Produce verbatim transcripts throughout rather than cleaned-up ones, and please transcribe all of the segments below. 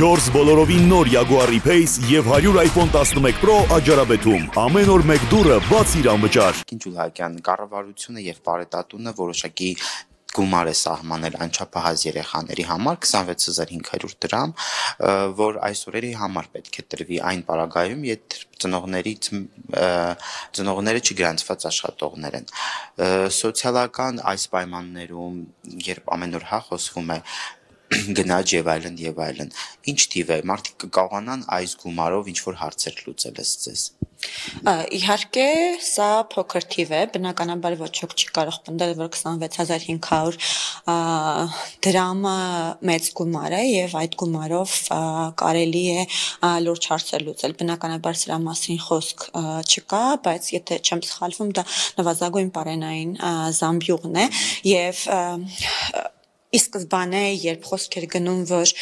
չորս բոլորովին նոր Jaguar E-Pace և հարյուր iPhone տասնմեկ Pro աջարաբեթում։ Ամեն օր մեկ դուրը բացիր անվճար։ Ջուլակյան կառավարությունը եւ Պարետատունը որոշակի գումար է սահմանել անչափահաս երեխաների համար քսանվեց հազար հինգ հարյուր դրամ, որ այս օրերի համար պետք է տրվի այն պարագայում, երբ ծնողներից ծնողները չգրանցված աշխատողներ են։ Սոցիալական այս պայմաններում, երբ ամեն օր հա խոսվում է գնաճ եւ այլն եւ այլն, ինչ թիվ է, մարդիկ կկարողանան այս գումարով ինչ-որ հարցեր լուծել ըստ ձեզ։ Իհարկե, սա փոքր թիվ է, բնականաբար ոչ ոք չի կարող պնդել, որ քսանվեց հազար հինգ հարյուր դրամը մեծ գումար է եւ այդ գումարով կարելի է լուրջ հարցեր լուծել։ Բնականաբար սրա մասին խոսք չկա, բայց եթե չեմ սխալվում, դա նվազագույն պարենային զամբյուղն է եւ ի սկզբանե, երբ խոսք էր գնում, որ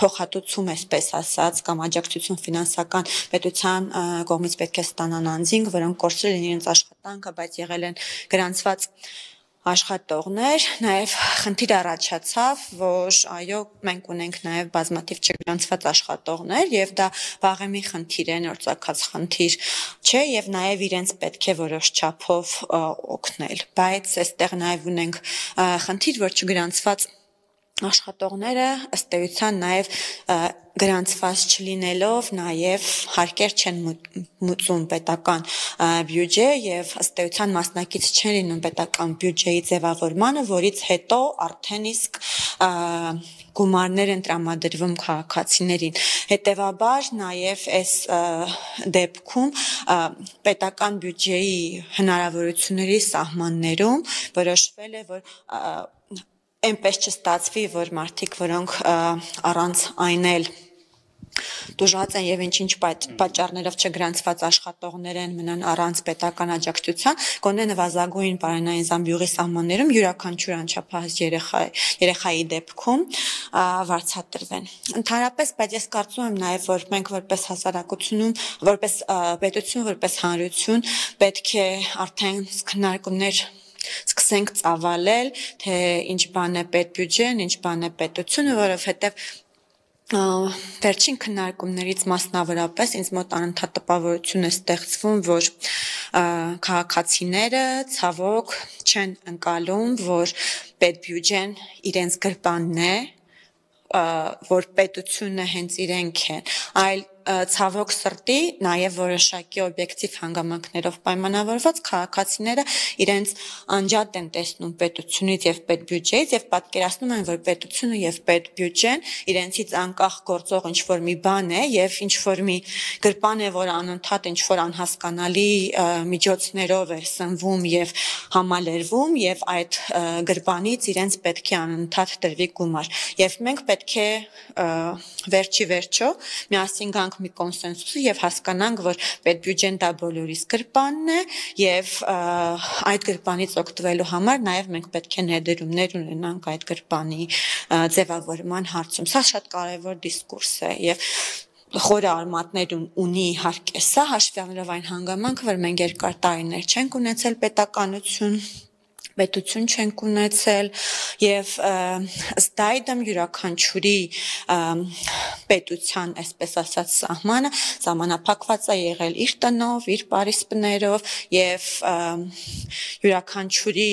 փոխհատուցում այսպես ասած կամ աջակցություն ֆինանսական պետության կողմից պետք է ստանան անձինք, որոնք կորցրել են իրենց աշխատանքը, բայց եղել են գրանցված աշխատողներ, նաև խնդիր առաջացավ, որ այո, մենք ունենք նաև բազմաթիվ չգրանցված աշխատողներ եւ դա վաղեմի խնդիր է, նոր ծագած խնդիր չէ եւ նաև իրենց պետք է որոշ չափով օգնել, բայց այստեղ նաև ունենք խնդիր, որ չգրանցված աշխատողները ըստ էության նաև գրանցված չլինելով նաև հարկեր չեն մուծում պետական բյուջե եւ ըստ էության մասնակից չեն լինում պետական բյուջեի ձևավորմանը, որից հետո արդեն իսկ գումարներ են տրամադրվում քաղաքացիներին։ Հետևաբար նաև այս դեպքում պետական բյուջեի հնարավորությունների սահմաններում որոշվել է, որ այնպես չստացվի, որ մարդիկ, որոնք առանց այն էլ դժուժած են եւ ինչ-ինչ պատճառներով չգրանցված աշխատողներ են մնան առանց պետական աջակցության, գոնե նվազագույն պարենային զամբյուղի սահմաններում յուրաքանչյուր անչափահաս երեխա երեխայի դեպքում վարձատրվեն։ Ընդհանրապես, բայց ես կարծում եմ նաեւ, որ մենք որպես հասարակությունում, որպես պետություն, որպես հանրություն պետք է արդեն քննարկումներ սկսենք ծավալել, թե ինչ բան է պետբյուջեն, ինչ բան է պետությունը, որովհետև վերջին քննարկումներից մասնավորապես ինձ մոտ անընդհատ տպավորություն է ստեղծվում, որ քաղաքացիները ցավոք չեն ընկալում, որ պետբյուջեն իրենց գրպանն է, որ պետությունը հենց իրենք են, այլ ցավոք սրտի նաև որոշակի օբյեկտիվ հանգամանքներով պայմանավորված քաղաքացիները իրենց անջատ են տեսնում պետությունից եւ պետբյուջեից եւ պատկերացնում են, որ պետությունը եւ պետբյուջեն իրենցից անկախ գործող ինչ-որ մի բան է եւ ինչ-որ մի գրպան է, որ անընդհատ ինչ-որ անհասկանալի միջոցներով է սնվում եւ համալրվում եւ այդ գրպանից իրենց պետք է անընդհատ տրվի գումար եւ մենք պետք է վերջի վերջո միասին գանք մի կոնսենսուսի եւ հասկանանք, որ պետբյուջեն դա բոլորիս գրպանն է եւ այդ գրպանից օգտվելու համար նաեւ մենք պետք է ներդրումներ ունենանք այդ գրպանի ձևավորման հարցում։ Սա շատ կարեւոր դիսկուրս է եւ խորը արմատներ ունի իհարկե սա, հաշվի առնելով այն հանգամանքը, որ մենք երկար տարիներ չենք ունեցել պետականություն, պետություն չենք ունեցել եւ ըստ այդմ յուրաքանչյուրի պետության, այսպես ասած, սահմանը սահմանափակված է եղել իր տնով, իր պարիսպներով եւ յուրաքանչյուրի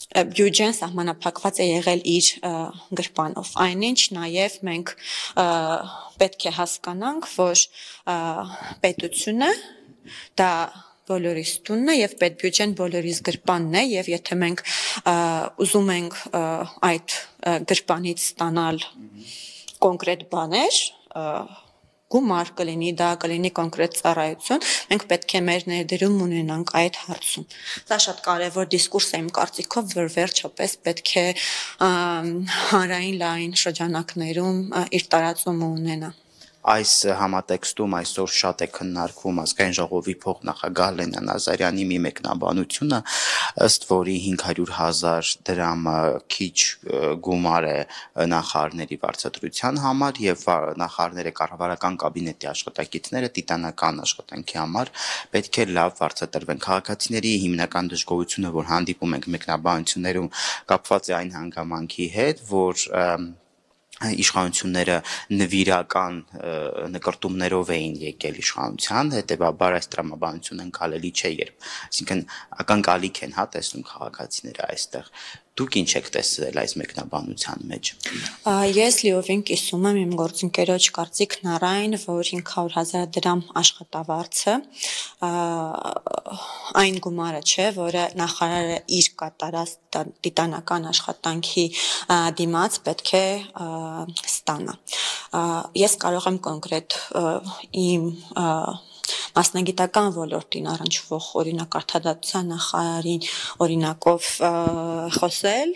բյուջեն սահմանափակված է եղել իր գրպանով։ Այնինչ նաև մենք պետք է հասկանանք, որ պետությունը դա բոլորիս տունն է եւ պետբյուջեն բոլորիս գրպանն է եւ եթե մենք ուզում ենք այդ գրպանից ստանալ կոնկրետ բաներ, գումար կլինի, դա կլինի կոնկրետ ծառայություն, մենք պետք է մեր ներդրում ունենանք այդ հարցում։ Դա շատ կարևոր դիսկուրս է իմ կարծիքով, որ վերջապես պետք է հանրային լայն շրջանակներում իր տարածումը ունենա։ Այս համատեքստում այսօր շատ է քննարկվում ազգային ժողովի փոխնախագահ Լենա Նազարյանի մի մեկնաբանությունը, ըստ որի հինգ հարյուր հազար դրամը քիչ գումար է նախարարների վարձատրության համար եւ նախարարները կառավարական կաբինետի աշխատակիցները տիտանական աշխատանքի համար պետք է լավ վարձատրվեն։ Քաղաքացիների հիմնական դժգոհությունը, որ հանդիպում ենք մեկնաբանություններում, կապված է այն հանգամանքի հետ, որ իշխանությունները նվիրական նկրտումներով էին եկել իշխանության, հետևաբար այս տրամաբանությունը ընկալելի չէ, երբ, այսինքն ակնկալիք են հա տեսնում քաղաքացիները այստեղ։ Դուք ինչ եք տեսել այս մեկնաբանության մեջ։ Ես լիովին կիսում եմ իմ գործընկերոջ կարծիքն առայն, որ հինգ հարյուր հազար դրամ աշխատավարձը այն գումարը չէ, որը նախարարը իր կատարած տիտանական աշխատանքի դիմաց պետք է ստանա։ Ես կարող եմ կոնկրետ իմ մասնագիտական ոլորտին առնչվող օրինակ արդարադատության նախարարին օրինակով խոսել,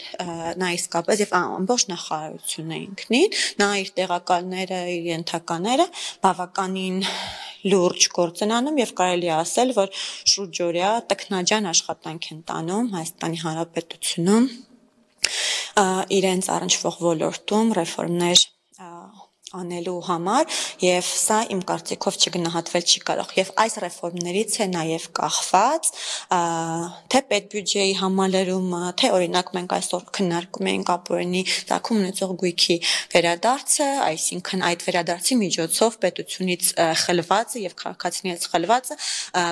նա իսկապես եւ ամբողջ նախարարությունը ինքնին, նա իր տեղակալները, իր ենթակաները բավականին լուրջ գործ են անում եւ կարելի է ասել, որ շուրջօրյա տքնաջան աշխատանք են տանում Հայաստանի Հանրապետությունում իրենց առնչվող ոլորտում ռեֆորմներ անելու համար եւ սա իմ կարծիքով չգնահատվել չի կարող եւ այս ռեֆորմներից է նաեւ կախված թե պետբյուջեի համալրումը, թե օրինակ մենք այսօր քննարկում ենք ապօրինի ծագում ունեցող գույքի վերադարձը, այսինքն այդ վերադարձի միջոցով պետությունից խլվածը եւ քաղաքացիներից խլվածը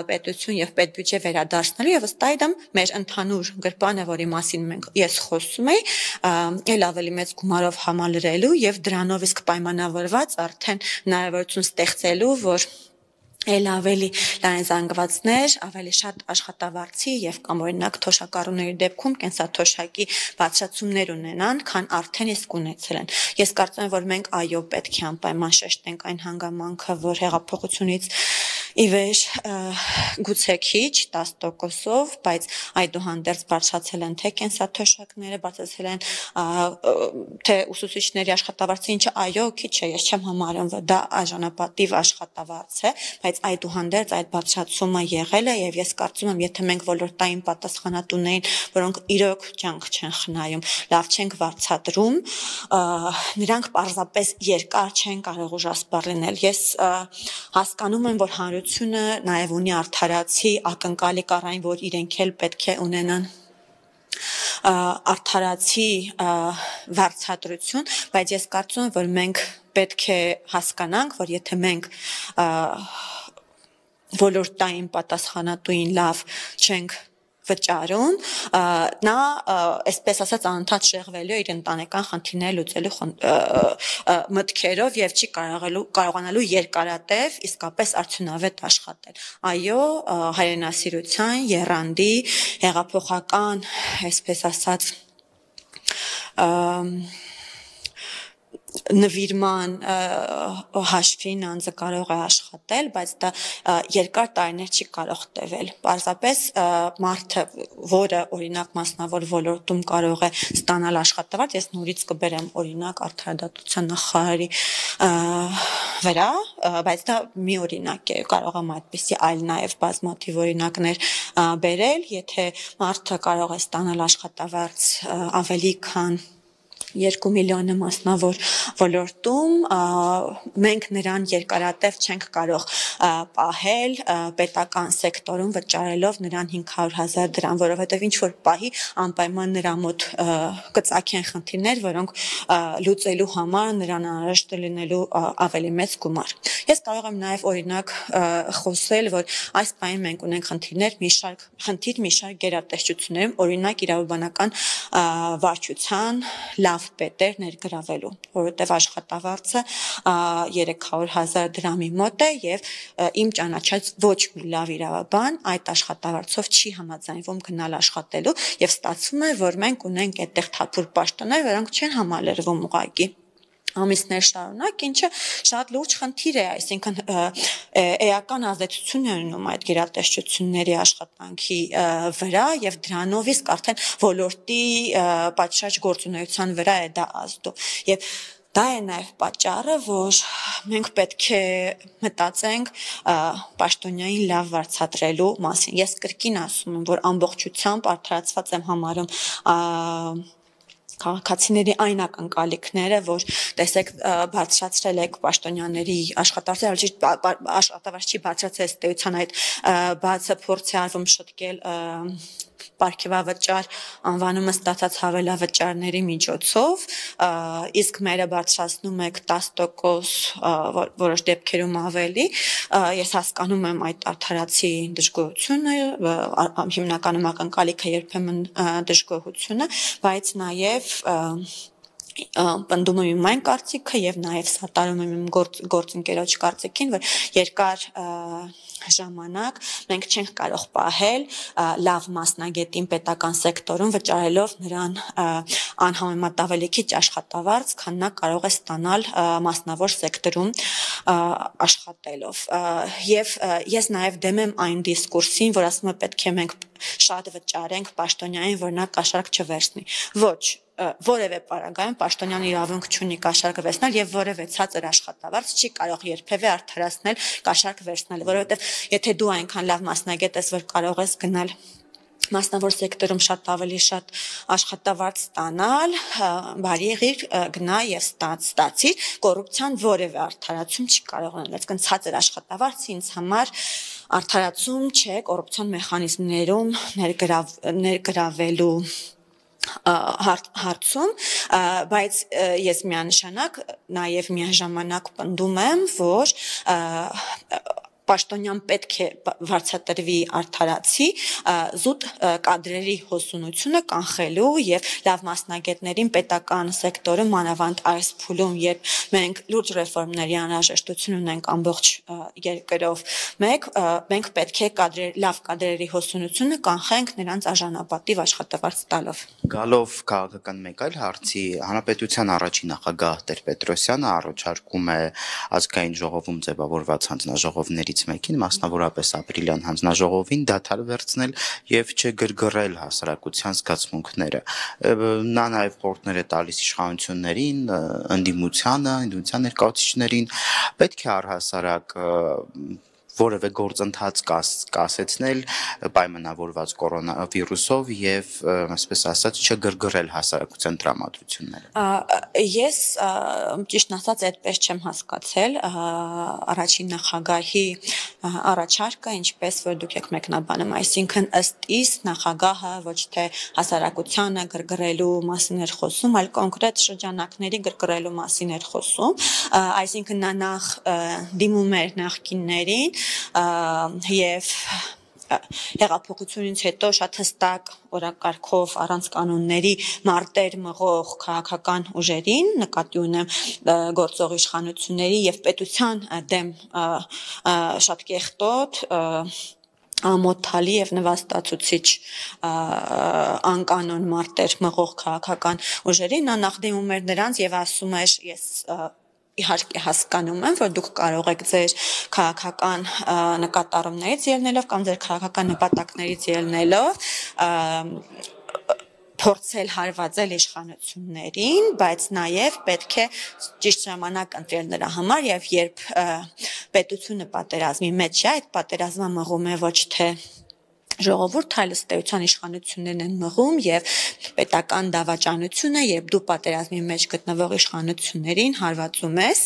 պետություն եւ պետբյուջե վերադարձնելու եւ ըստ այդմ մեր ընդհանուր գրպանը, որի մասին մենք ես խոսում եի, ել ավելի մեծ գումարով համալրելու եւ դրանով իսկ պայմանավորված արդեն հնարավորություն ստեղծելու, որ էլ ավելի լայն զանգվածներ, ավելի շատ աշխատավարձի եւ կամ օրինակ թոշակառուների դեպքում կենսաթոշակի բացատրումներ ունենան, քան արդեն իսկ ունեցել են։ Ես կարծում եմ, որ մենք այո պետք է անպայման շեշտենք այն հանգամանքը, որ հեղափոխությունից ի վեր գուցե քիչ դես տոկոսով, բայց այդուհանդերձ բարձրացել են թե կենսաթոշակները, բարձրացել են թե ուսուցիչների աշխատավարձը, ինչը այո քիչ է, ես չեմ համարում, որ դա արժանապատիվ աշխատավարձ է, բայց այդուհանդերձ այդ բարձրացումը եղել է եւ ես կարծում եմ, եթե մենք ոլորտային պատասխանատուներին, որոնք իրոք ջանք չեն խնայում, լավ չենք վարձատրում, նրանք պարզապես երկար չեն կարող ուժասպառ լինել։ Ես հասկանում եմ, որ հանրությունը նաեւ ունի արդարացի ակնկալի կառային, որ իրենք էլ պետք է ունենան արդարացի վարձատրություն, բայց ես կարծում եմ, որ մենք պետք է հասկանանք, որ եթե մենք ոլորտային պատասխանատուին լավ չենք վճարում, նա այսպես ասած անընդհատ շեղվելու իր ընտանեկան խնդիրները լուծելու մտքերով եւ չի կարողանալու կարողանալու երկարատև իսկապես արդյունավետ աշխատել։ Այո, հայրենասիրության, եռանդի, հեղափոխական, այսպես ասած նվիրման հաշվին անձը կարող է աշխատել, բայց դա երկար տարիներ չի կարող տևել։ Պարզապես մարդը, որը օրինակ մասնավոր ոլորտում կարող է ստանալ աշխատավարձ, ես նորից կբերեմ օրինակ արդարադատության նախարարի վրա, բայց դա մի օրինակ է, կարող եմ այդպիսի այլ նաև բազմաթիվ օրինակներ բերել, եթե մարդը կարող է ստանալ աշխատավարձ ավելի քան երկու միլիոնը մասնավոր ոլորտում, մենք նրան երկարատև չենք կարող պահել պետական սեկտորում վճարելով նրան հինգ հարյուր հազար դրամ, որովհետև ինչ որ պահի անպայման նրա մոտ կծագեն խնդիրներ, որոնք լուծելու համար նրան անհրաժեշտ է լինելու ավելի մեծ գումար։ Ես կարող եմ նաև օրինակ խոսել, որ այս պահին մենք ունենք խնդիրներ, մի շարք խնդիր, մի շարք գերատեսչություններում, օրինակ իրավաբանական վարչության լավ պետեր ներգրավելու, որովհետև աշխատավարձը երեք հարյուր հազար դրամի մոտ է եւ իմ ճանաչած ոչ մի լավ իրավաբան այդ աշխատավարձով չի համաձայնվում գնալ աշխատելու եւ ստացվում է, որ մենք ունենք այդտեղ թափուր պաշտոններ, որոնք չեն համալրվում ուղղակի ամիսներ շարունակ, ինչը շատ լուրջ խնդիր է, այսինքն էական ազդեցություն է ունենում այդ գերատեսչությունների աշխատանքի վրա եւ դրանով իսկ արդեն ոլորտի պատշաճ գործունեության վրա է դա ազդում։ Եվ դա է նաև պատճառը, որ մենք պետք է մտածենք պաշտոնյային լավ վարձատրելու մասին։ Ես կրկին ասում եմ, որ ամբողջությամբ արդարացված եմ համարում քաղաքացիների այն ակնկալիքները, որ տեսեք բարձրացրել եք պաշտոնյաների աշխատավարձը, ճիշտ աշխատավարձ չի բարձրացել ըստ այդ բացը փորձ է արվում շտկել պարգևավճար անվանումը ստացած հավելավճարների միջոցով, իսկ մերը բարձրացնում եք տասը տոկոս որոշ դեպքերում ավելի, ես հասկանում եմ այդ արդարացի դժգոհությունը, հիմնականում ակնկալիքը երբեմն դժգոհությունը, բայց նաև պնդում եմ իմ այն կարծիքը եւ նաեւ սատարում եմ իմ գործընկերոջ կարծիքին, որ երկար ժամանակ մենք չենք կարող պահել լավ մասնագետին պետական սեկտորում վճարելով նրան անհամեմատ ավելի քիչ աշխատավարձ, քան նա կարող է ստանալ մասնավոր սեկտորում աշխատելով։ Եվ ես նաեւ դեմ եմ այն դիսկուրսին, որ ասում է պետք է մենք շատ վճարենք պաշտոնյային, որ նա կաշառք չվերցնի։ Ոչ, որևէ պարագայում պաշտոնյան իրավունք չունի կաշառքը վերցնել եւ որևէ ցածր աշխատավարձ չի կարող երբեւե արդարացնել կաշառք վերցնել, որովհետեւ եթե դու այնքան լավ մասնագետ ես, որ կարող ես գնալ մասնավոր սեկտորում շատ ավելի շատ աշխատավարձ ստանալ, բարի եղիր գնա եւ ստացի, կոռուպցիան որևէ արդարացում չի կարող անել, այսինքն ցածր աշխատավարձը ինձ համար արդարացում չէ կոռուպցիոն մեխանիզմներում ներգրավելու հարցում, բայց ես միանշանակ նաև միաժամանակ պնդում եմ, որ պաշտոնյան պետք է վարձատրվի արդարացի զուտ կադրերի հոսունությունը կանխելու եւ լավ մասնագետներին պետական սեկտորում մանավանդ այս փուլում, երբ մենք լուրջ ռեֆորմների անհրաժեշտություն ունենք ամբողջ երկրով, մեկ մենք պետք է կադրեր լավ կադրերի հոսունությունը կանխենք նրանց արժանապատիվ աշխատավարձ տալով։ Գալով քաղաքական մեկ այլ հարցի, հանրապետության առաջին նախագահ Տեր-Պետրոսյանը առաջարկում է ազգային ժողովում ձևավորված հանձնաժողովներից մեկին, մասնավորապես ապրիլյան հանձնաժողովին դադար վերցնել եւ չգրգռել հասարակության զգացմունքները։ Նա նաեւ խորհուրդներ է տալիս իշխանություններին, ընդդիմությանը, ընդդիմության ներկայացուցիչներին, պետք է առհասարակ որևէ գործընթաց կասեցնել պայմանավորված կորոնավիրուսով եւ այսպես ասած չգրգռել հասարակության տրամադրությունները։ Ես ճիշտ ասած այդպես չեմ հասկացել առաջին նախագահի առաջարկը, ինչպես որ դուք եք մեկնաբանում, այսինքն ըստ իս նախագահը ոչ թե հասարակությանը գրգռելու մասին էր խոսում, այլ կոնկրետ շրջանակների գրգռելու մասին էր խոսում, այսինքն նա նախ դիմում էր նախկիններին եւ հեղափոխությունից հետո շատ հստակ օրակարգով առանց կանոնների մարտեր մղող քաղաքական ուժերին, նկատի ունեմ գործող իշխանությունների եւ պետության դեմ շատ կեղտոտ ամոթալի եւ նվաստացուցիչ անկանոն մարտեր մղող քաղաքական ուժերին, նա նախ դիմում էր նրանց եւ ասում էր ես իհարկե հասկանում եմ, որ դուք կարող եք ձեր քաղաքական նկատառումներից ելնելով կամ ձեր քաղաքական նպատակներից ելնելով փորձել հարվածել իշխանություններին, բայց նաև պետք է ճիշտ ժամանակ ընտրել նրա համար եւ երբ պետությունը պատերազմի մեջ է, այդ պատերազմը մղում է ոչ թե ժողովուրդ, այլ ըստ էության իշխանություններն են մղում եւ պետական դավաճանությունը, երբ դու պատերազմի մեջ գտնվող իշխանություններին հարվածում ես,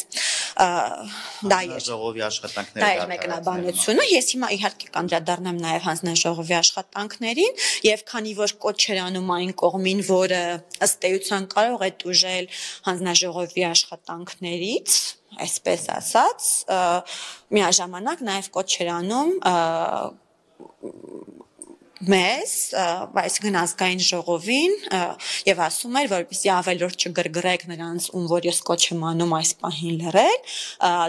դա է ժողովի աշխատանքները, դա է մեկնաբանությունը, ես հիմա իհարկե կանդրադառնամ նաեւ հանձնաժողովի աշխատանքներին եւ քանի որ կոչ էր անում այն կողմին, որը ըստ էության կարող է տուժել հանձնաժողովի աշխատանքներից, այսպես ասած, միաժամանակ նաեւ կոչ էր անում մեզ, այսինքն ազգային ժողովին եւ ասում էր, որպեսզի ավելորդ չգրգռեք նրանց, ում որ ես կոչ եմ անում այս պահին լռել,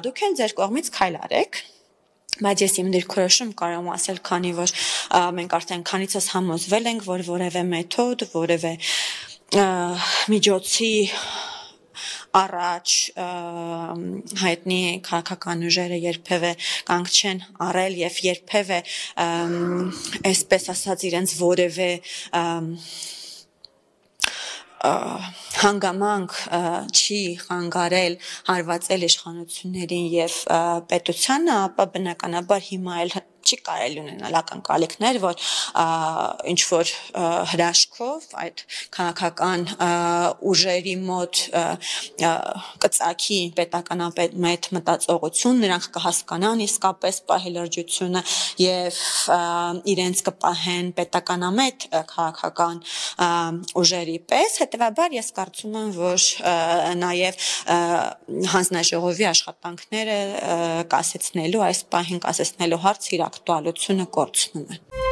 դուք էլ ձեր կողմից քայլ արեք, բայց ես իմ դիրքորոշում կարող եմ ասել, քանի որ մենք արդեն քանիցս համոզվել ենք, որ որևէ մեթոդ, որևէ միջոցի առաջ հայտնի քաղաքական ուժերը երբևէ կանգ չեն առել եւ երբևէ այսպես ասած իրենց որևէ հանգամանք չի խանգարել հարվածել իշխանություններին եւ պետությանը, ապա բնականաբար հիմա էլ չի կարելի ունենալ ակնկալիքներ, որ ինչ որ հրաշքով այդ քաղաքական ուժերի մոտ կծակի պետականամետ մտածողություն, նրանք կհասկանան իսկապես պահի լրջությունը եւ իրենց կպահեն պետականամետ քաղաքական ուժերի պես, հետեւաբար ես կարծում եմ, որ նաեւ հանձնաժողովի աշխատանքները կասեցնելու այս պահին կասեցնելու հարցը իր ակտուալությունը կորցնում է։